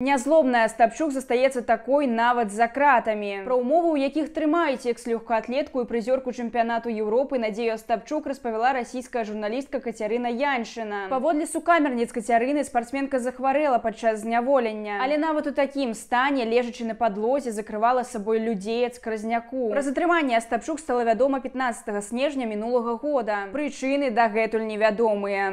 Нязлобная Остапчук застаецца такой нават за кратамі. Пра ўмовы, у якіх трымаюць экс-лёгкаатлетку і прызёрку чэмпіянату Еўропы Надзею Остапчук распавяла расійская журналістка Кацярына Яньшына. Паводле сукамерніц Кацярыны, спартсменка захварэла падчас зняволення, але нават у такім стане, лежачы на падлозе, закрывала сабой людзей ад скразняку. Пра затрыманне Остапчук стала вядома 15 снежня мінулага года. Прычыны дагэтуль невядомыя.